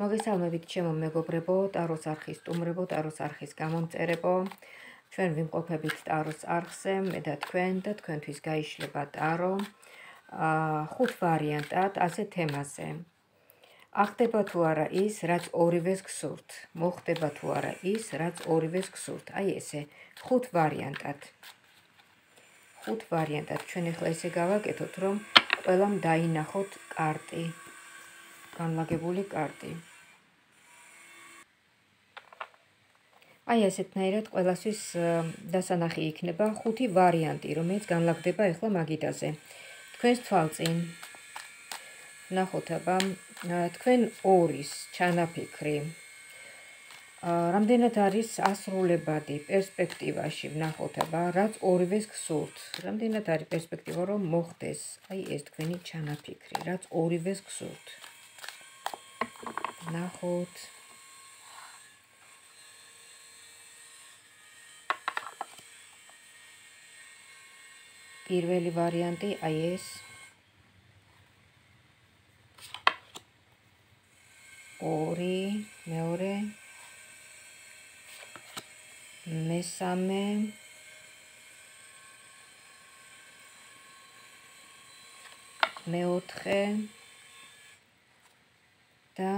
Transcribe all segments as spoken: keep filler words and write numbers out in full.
მოგესალმებით ჩემო მეგობრებო, ტაროს არხის სტუმრებო, ტაროს არხის გამომწერებო. ჩვენ ვიმყოფებით ტაროს არხზე, მე და თქვენ და თქვენთვის გაიშლება ტარო ხუთ ვარიანტად ასე თემაზე. ახდება თუ არა ის, რაც ორივეს გსურთ, მოხდება თუ არა ის, რაც ორივეს გსურთ. აი ესე, ხუთ ვარიანტად. ხუთ ვარიანტად. ჩვენ ახლა ესე გავაკეთოთ, რომ ყველამ დაინახოთ კარტი, განლაგებული კარტი. აი ესეთნაირად ყველასთვის დასანახი იქნება ხუთი ვარიანტი, რომელიც განლაგდება ახლა მაგიდაზე. თქვენს თვალწინ ნახოთ აბა, თქვენ ორის ჩანაფიქრი. რამდენად არის ასრულებადი პერსპექტივაში, ვნახოთ აბა, რაც ორივეს გსურთ. რამდენად არის პერსპექტივა, რომ მოხდეს, აი ეს თქვენი ჩანაფიქრი, რაც ორივეს გსურთ. ვნახოთ. პირველი ვარიანტი აი ეს. ორი, მეორე, მესამე, მეოთხე და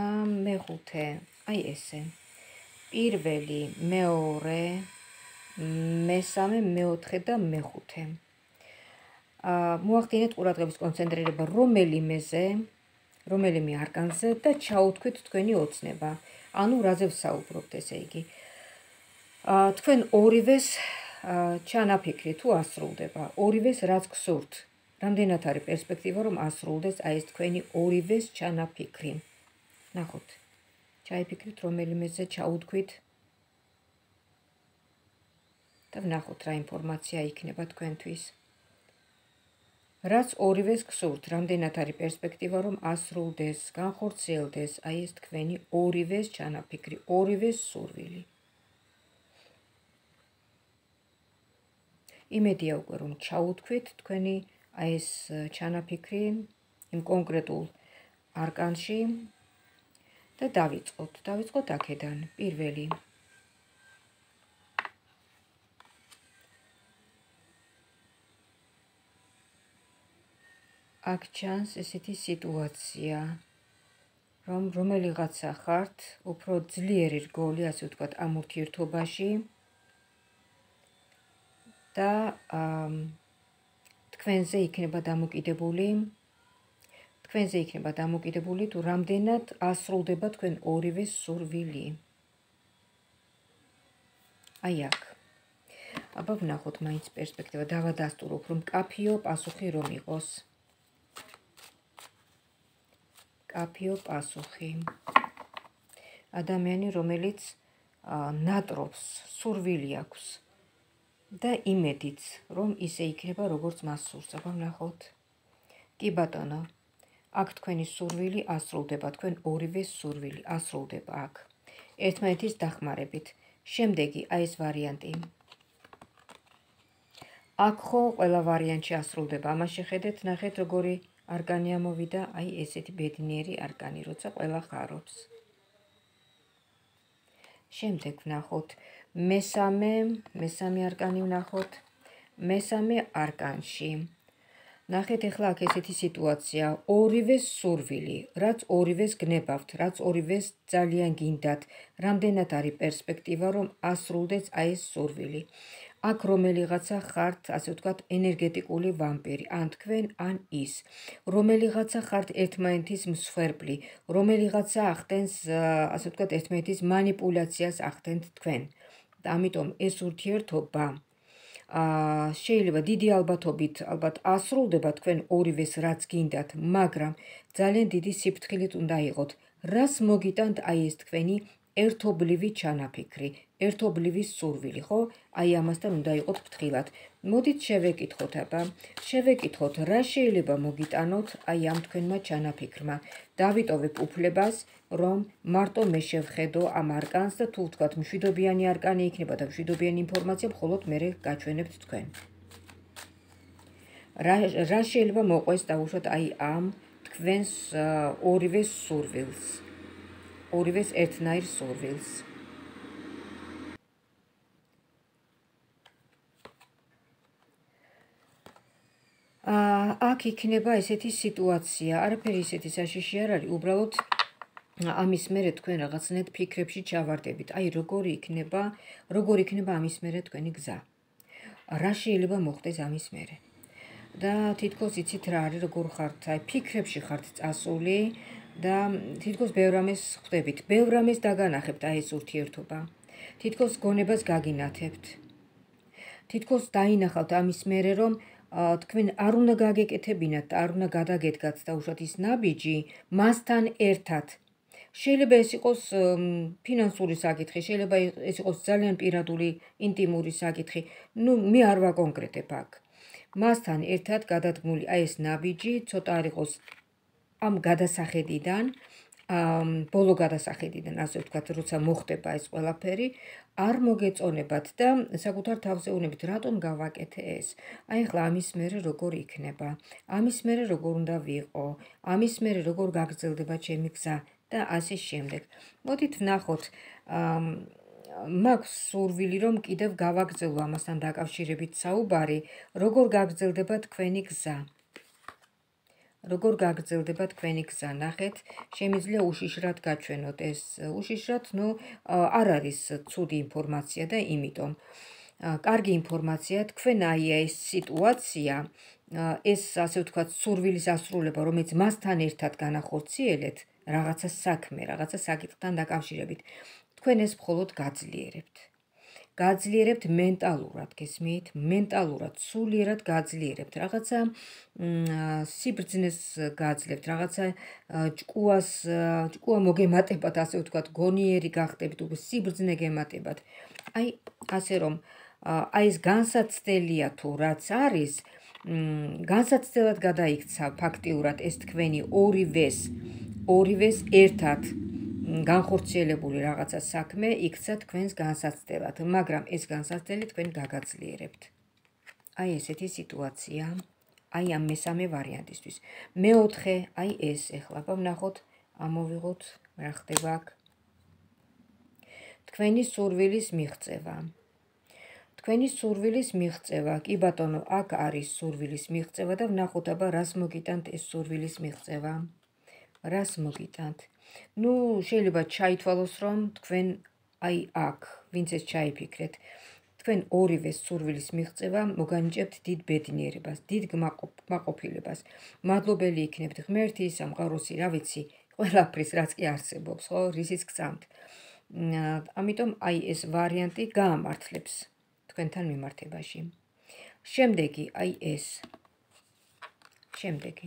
მეხუთე. აი ესე. პირველი, მეორე, მესამე, მეოთხე და მეხუთე. მოახდინეთ ყურადღების კონცენტრირება რომელიმეზე, რომელიმე არკანზე და ჩაუთქვით თქვენი ოცნება. ანუ რაზე ვსაუბრობთ, ესე იგი. თქვენ ორივეს ჩანაფიქრი თუ ასრულდება, ორივეს რაც გსურთ. რამდენად არის პერსპექტივა, რომ ასრულდეს აი ეს თქვენი ორივეს ჩანაფიქრი. ნახოთ. ჩაიფიქრით რომელიმეზე, ჩაუთქვით და ვნახოთ რა ინფორმაცია იქნება თქვენთვის. რაც ორივეს გსურთ, რამდენად არის პერსპექტივა, რომ ასრულდეს, განხორციელდეს აი ეს თქვენი ორივეს ჩანაფიქრი, ორივეს სურვილი. იმედია უკვე რომ ჩაუთქვით თქვენი აი ეს ჩანაფიქრი იმ კონკრეტულ არკანში და დავიწყოთ. დავიწყოთ აქედან პირველი. აქ ჩანს ესეთი სიტუაცია, რომ რომელიღაცა ხართ, უფრო ძლიერი რგოლი, ასე ვთქვათ, ამ ურთიერთობაში და თქვენზე იქნება დამოკიდებული, თქვენზე იქნება დამოკიდებული თუ რამდენად ასრულდება თქვენ ორივეს სურვილი. აი აქ. აბა ვნახოთ მაინც პერსპექტივა, დავადასტუროთ, რომ მკაფიო პასუხი რომ იყოს. მკაფიო პასუხი. ადამიანი, რომელიც ნატრობს, სურვილი აქვს და იმედიც, რომ ისე იქნება, როგორც მას სურს. აბა ვნახოთ. კი ბატონო, აქ თქვენი სურვილი ასრულდება, თქვენ ორივეს სურვილი ასრულდება აქ. ერთმანეთის დახმარებით. შემდეგი აი ეს ვარიანტი. აქ ხო ყველა ვარიანტში ასრულდება. ამას შეხედეთ, ნახეთ როგორი არკანი ამოვიდა, აი ესეთი ბედნიერი არკანი, როცა ყველა ხარობს. შემდეგ ვნახოთ მესამე, მესამე არკანი ვნახოთ. მესამე არკანში. ნახეთ ახლა აქ ესეთი სიტუაცია, ორივეს სურვილი, რაც ორივეს გნებავთ, რაც ორივეს ძალიან გინდათ, რამდენად არის პერსპექტივა, რომ ასრულდეს აი ეს სურვილი. აქ რომელიღაცა ხართ, ასე ვთქვათ, ენერგეტიკული ვამპირი, ან თქვენ, ან ის. რომელიღაცა ხართ ერთმანეთის მსხვერპლი, რომელიღაცა ახდენს, ასე ვთქვათ, ერთმანეთის манипуляციას ახდენთ თქვენ. ამიტომ ეს ურთიერთობა შეიძლება დიდი ალბათობით, ალბათ ასრულდება თქვენ ორივეს რაც გინდათ, მაგრამ ძალიან დიდი სიფრთხილით უნდა იყოთ. რას მოგიტანთ აი ეს თქვენი ერთობლივი ჩანაფიქრი, ერთობლივი სურვილი, ხო? აი ამასთან უნდა იყოთ ფრთხილად. მოდით შევეკითხოთ აბა, შევეკითხოთ რა შეიძლება მოგიტანოთ აი ამ თქვენმა ჩანაფიქრმა. დავიტოვებ უფლებას, რომ მარტო მე შევხედო ამ არკანს და თუ ვთქვათ მშვიდობიანი არკანი იქნება და მშვიდობიანი ინფორმაცია, მხოლოდ მე გაჩვენებთ თქვენ. რა რა შეიძლება მოყვეს დაუშვათ აი ამ თქვენს ორივე სურვილს. ორივეს ერთნაირ სურვილს. აქ იქნება ესეთი სიტუაცია, არაფერი ისეთი საშიში არ არის, უბრალოდ ამის მერე თქვენ რაღაცნაირად ფიქრებში ჩავარდებით. აი, როგორი იქნება, როგორი იქნება ამის მერე თქვენი გზა. რა შეიძლება მოხდეს ამის მერე. და თითქოს იცით რა არის, როგორ ხართ, აი, ფიქრებში ხართ წასული და თითქოს ბევრ რამეს ხვდებით. ბევრ რამეს დაგანახებთ აი ეს ურთიერთობა. თითქოს გონებას გაგინათებთ. თითქოს დაინახავთ ამის მერე, რომ თქვენ არ უნდა გაგეკეთებინათ, არ უნდა გადაგედგათ და უშუალოდ ის ნაბიჯი მასთან ერთად. შეიძლება ეს იყოს ფინანსური საკითხი, შეიძლება ეს იყოს ძალიან პირადული, ინტიმური საკითხი. ნუ მე არ ვაკონკრეტებ აქ. მასთან ერთად გადადგმული აი ეს ნაბიჯი ცოტა არ იყოს ამ გადასახედიდან, ბოლო გადასახედიდან, ასე ვთქვათ, როცა მოხდება ეს ყველაფერი, არ მოგეწონებათ და საკუთარ თავზე უნებით, რატომ გავაკეთე ეს? აი ახლა ამის მერე როგორ იქნება? ამის მერე როგორ უნდა ვიყო? ამის მერე როგორ გაგრძელდება ჩემი გზა და ასე შემდეგ. მოდით ვნახოთ, მაქვს სურვილი, რომ კიდევ გავაგრძელო ამასთან დაკავშირებით საუბარი, როგორ გაგრძელდება თქვენი გზა. როგორ გაგრძელდება თქვენი გზა, ნახეთ, შემიძლია უშიშრად გაჩვენოთ ეს უშიშრად, ნუ არ არის ცუდი ინფორმაცია და იმიტომ კარგი ინფორმაცია, თქვენ აი ეს სიტუაცია, ეს ასე ვთქვათ, სურვილის ასრულება, რომელიც მასთან ერთად განახორციელეთ, რაღაცა საქმე, რაღაცა საკითხთან დაკავშირებით, თქვენ ეს მხოლოდ გაძლიერებთ. გაძლიერებთ მენტალურად, გესმით? მენტალურად, სულიერად გაძლიერებთ. რაღაცა სიბრძნეს გაძლევთ, რაღაცა ჭკუას, ჭკუა მოგემატებათ, ასე ვთქვათ, გონიერი გახდებით, უკვე სიბრძნე გემატებათ. აი, ასე რომ, აი ეს განსაცდელია თუ რაც არის, განსაცდელად გადაიქცა ფაქტიურად ეს თქვენი ორივეს, ორივეს ერთად განხორციელებული რაღაცა საქმე იქცა თქვენს განსაცდელად, მაგრამ ეს განსაცდელი თქვენ გაგაძლიერებთ. აი ესეთი სიტუაცია, აი ამ მესამე ვარიანტისთვის. მეოთხე, აი ეს ეხლა ვნახოთ, ამოვიღოთ, რა ხდება აქ. თქვენი სურვილის მიღწევა. თქვენი სურვილის მიღწევა, კი ბატონო, აქ არის სურვილის მიღწევა და ვნახოთ აბა რას მოგიტანთ ეს სურვილის მიღწევა. რას მოგიტანთ? ნუ შეიძლება ჩაითვალოს, რომ თქვენ აი აქ, ვინც ეს ჩაიფიქრეთ, თქვენ ორივე სურვილის მიღწევა მოგანიჭებთ დიდ ბედნიერებას, დიდ კმაყოფილებას. მადლობელი იქნებთ ღმერთი, სამყაროსი, რა ვიცი, ყველაფრის, რაც კი არსებობს, ხო, რისიც გწამთ. ამიტომ აი ეს ვარიანტი გაამართლებს თქვენთან მიმართებაში. შემდეგი, აი ეს. შემდეგი.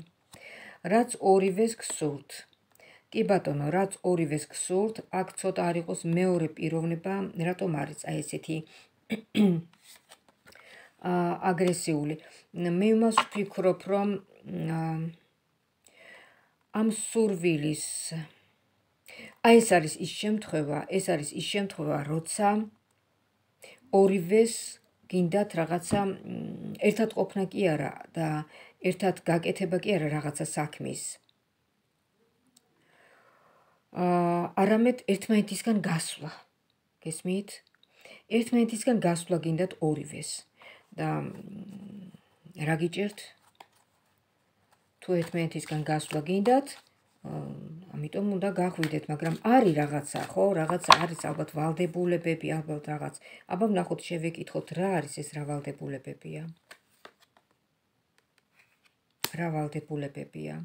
რაც ორივეს გსურთ. კი ბატონო, რაც ორივეს გსურთ, აქ ცოტა არ იყოს მეორე პიროვნება, რატომ არის აი ესეთი აგრესიული. მე იმას ვფიქრობ, რომ ამ სურვილის აი ეს არის ის შემთხვევა, ეს არის ის შემთხვევა, როცა ორივეს გინდათ რაღაცა ერთად ყოფნა კი არა და ერთად გაკეთება კი არა რაღაცა საქმის. არამედ ერთმანეთისგან გასვლა. გესმით? ერთმანეთისგან გასვლა გინდათ ორივეს. და რა გიჭერთ? თუ ერთმანეთისგან გასვლა გინდათ, ამიტომ უნდა გახვიდეთ, მაგრამ არის რაღაცა, ხო? რაღაცა არის ალბათ ვალდებულებები, ალბათ რაღაც. აბა ვნახოთ, შევეკითხოთ, რა არის ეს რა ვალდებულებებია? რა ვალდებულებებია?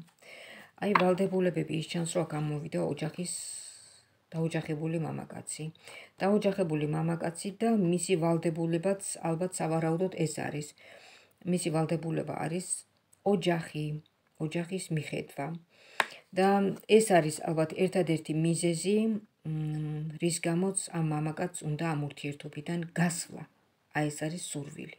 აი, ვალდებულებები ის ჩანს, რომ აქ ამოვიდა ოჯახის დაოჯახებული მამაკაცი. დაოჯახებული მამაკაცი და მისი ვალდებულებაც ალბათ სავარაუდოდ ეს არის. მისი ვალდებულება არის ოჯახი, ოჯახის მიხედვა. და ეს არის ალბათ ერთადერთი მიზეზი, რის გამოც ამ მამაკაცს უნდა ამ ურთიერთობიდან გასვლა. აი ეს არის სურვილი.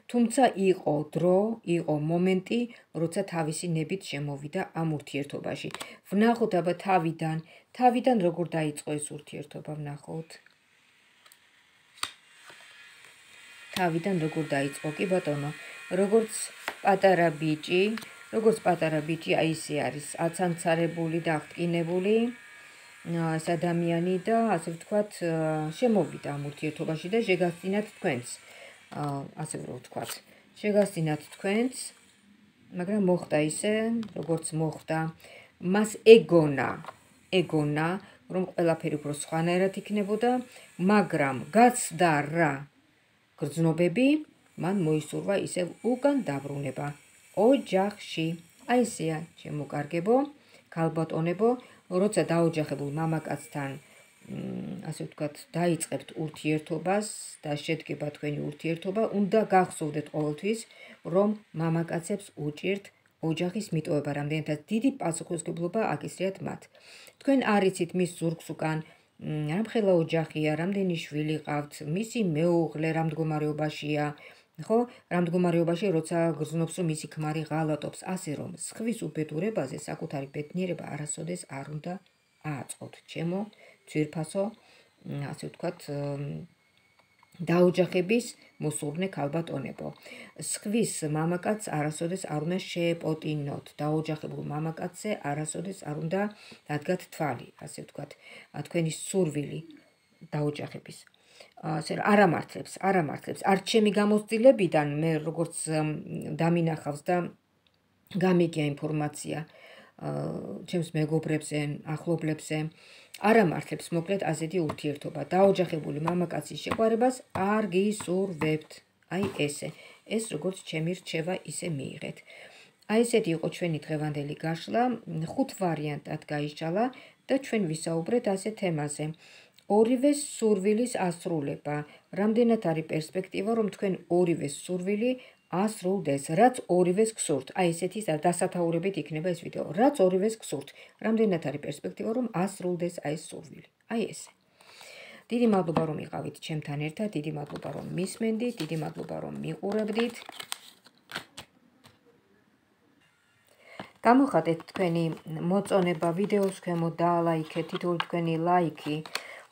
თუმცა იყო დრო, იყო მომენტი, როცა თავისი ნებით შემოვიდა ამ ურთიერთობაში. ვნახოთ აბა თავიდან, თავიდან როგორ დაიწყო ეს ურთიერთობა, ვნახოთ. თავიდან როგორ დაიწყო, კი ბატონო, როგორც პატარა ბიჭი, როგორც პატარა ბიჭი, აი ისე არის, აცანცარებული და აღტკინებული. ეს ადამიანი და ასე ვთქვათ, შემოვიდა ამ ურთიერთობაში და შეგასწინათ თქვენს. ასე რომ ვთქვათ, შეგასწინათ თქვენს, მაგრამ მოხდა ისე, როგორც მოხდა. მას ეგონა, ეგონა, რომ ყველაფერი უფრო სხვანაირად იქნებოდა, მაგრამ გაცდა რა გრძნობები, მან მოისურვა ისევ უკან დაბრუნება ოჯახში. აი ესეა, ჩემო კარგებო, ქალბატონებო, როცა დაოჯახებულ მამაკაცთან ასე ვთქვათ, დაიწყებთ ურთიერთობას და შედგება თქვენი ურთიერთობა, უნდა გახსოვდეთ ყოველთვის, რომ მამაკაცებს უჭირთ ოჯახის მიტოვება, რამდენადაც დიდი პასუხისმგებლობა აკისრიათ მათ. თქვენ არ იცით მის ზურგს უკან რამხელა ოჯახია, რამდენი შვილი ყავთ, მისი მეუღლე რამ მდგომარეობაშია, ხო, რამ მდგომარეობაში, როცა გრძნობს, რომ მისი ქმარი ღალატობს, ასე რომ სხვის უბედურებაზე საკუთარი ბედნიერება არასოდეს არ უნდა ააწყოთ. ჩემო ძვირფასო, ასე ვთქვათ, დაოჯახების მოსურნე ქალბატონებო. სხვის მამაკაცს არასოდეს არ უნდა შეეპოტინოთ. დაოჯახებულ მამაკაცზე არასოდეს არ უნდა დადგათ თვალი, ასე ვთქვათ, თქვენი სურვილი დაოჯახების. ასე რომ არ ამართლებს, არ ამართლებს. არ ჩემი გამოცდილებიდან მე როგორც დამინახავს და გამიგია ინფორმაცია ჩემს მეგობრებზე, ახლობლებზე, არ ამართლებს მოკლედ ასეთი ურთიერთობა. დაოჯახებული მამაკაცის შეყვარებას არ გისურვებთ. აი ესე. ეს როგორც ჩემი რჩევა ისე მიიღეთ. აი ესეთი იყო ჩვენი დღევანდელი გაშლა, ხუთ ვარიანტად გაიშალა და ჩვენ ვისაუბრეთ ასე თემაზე. ორივე სურვილის ასრულება. რამდენად არის პერსპექტივა, რომ თქვენ ორივე სურვილი ასრულდეს, რაც ორივეს გსურთ. აი ესეთი დასათაურებით იქნება ეს ვიდეო. რაც ორივეს გსურთ. რამდენად არის პერსპექტივა, რომ ასრულდეს აი ეს სურვილი. აი ესე. დიდი მადლობა, რომ იყავით ჩემთან ერთად, დიდი მადლობა, რომ მისმენდით, დიდი მადლობა, რომ მიყურებდით. გამოხატეთ თქვენი მოწონება ვიდეოს ქვემოთ, დაალაიქეთ, თითოეული თქვენი ლაიქი,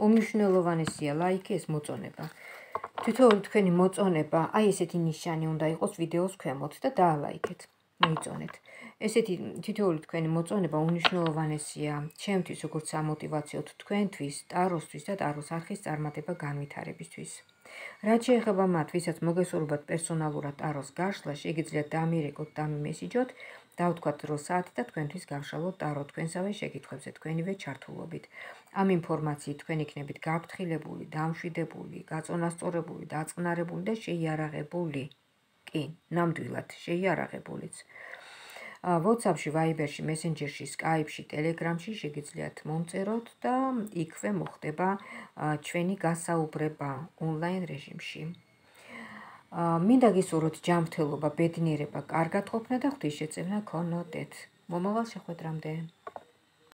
უმნიშვნელოვანესია ლაიქი, ეს მოწონება. თითოეული თქვენი მოწონება, აი ესეთი ნიშანი უნდა იყოს ვიდეოს ქვემოთ და დაალაიქეთ, მოიწონეთ. ესეთი თითოეული თქვენი მოწონება უმნიშვნელოვანესია ჩემთვის, როგორც სამოტივაციოდ თქვენთვის, ტაროსთვის და ტაროს არხის წარმატება განვითარებისთვის. რაც შეეხება მათ, ვისაც მოგესურვებათ პერსონალურად ტაროს გაშლა, შეგიძლიათ დამირეკოთ და მესიჯოთ, დავთქვათ დრო საათი და თქვენთვის გავშალოთ ტარო თქვენსავე შეკითხვებზე თქვენივე ჩართულობით. ამ ინფორმაციით თქვენ იქნებით გაფრთხილებული, დამშვიდებული, გაწონასწორებული, დაწყნარებული და შეიარაღებული. კი, ნამდვილად შეიარაღებულიც. WhatsApp-ში, Viber-ში, Messenger-ში, Skype-ში, Telegram-ში შეგიძლიათ მომწეროთ და იქვე მოხდება ჩვენი გასაუბრება ონლაინ რეჟიმში. მინდა გისურვოთ ჯანმრთელობა, ბედნიერება, კარგად ყოფნა და ღვთისშეწევნა გქონოდეთ. მომავალ შეხვედრამდე.